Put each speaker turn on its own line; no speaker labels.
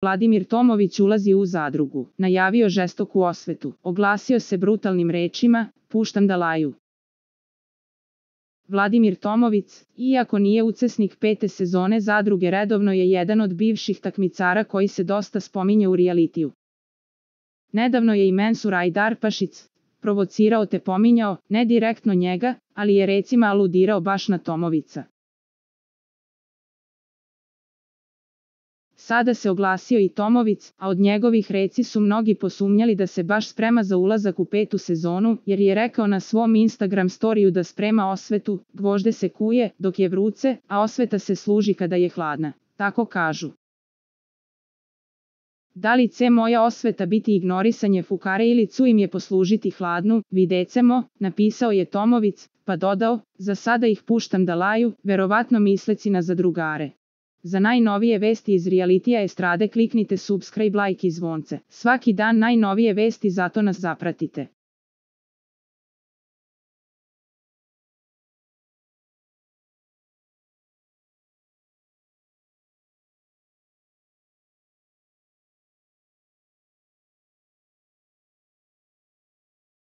Vladimir Tomović ulazi u zadrugu, najavio žestoku osvetu, oglasio se brutalnim rečima, puštam da laju. Vladimir Tomović, iako nije učesnik 5. sezone zadruge, redovno je jedan od bivših takmicara koji se dosta spominje u realitiju. Nedavno je i Mensur Ajdarpašić provocirao te pominjao, ne direktno njega, ali je recimo aludirao baš na Tomovića. Sada se oglasio i Tomović, a od njegovih reci su mnogi posumnjali da se baš sprema za ulazak u 5. sezonu, jer je rekao na svom Instagram storiju da sprema osvetu, gvožđe se kuje dok je vruće, a osveta se služi kada je hladna. Tako kažu. Da li će moja osveta biti ignorisanje fukare ili ću im je poslužiti hladnu, videcemo, napisao je Tomović, pa dodao, za sada ih puštam da laju, verovatno misleci na zadrugare. Za najnovije vesti iz realitija estrade kliknite subscribe, like i zvonce. Svaki dan najnovije vesti, zato nas zapratite.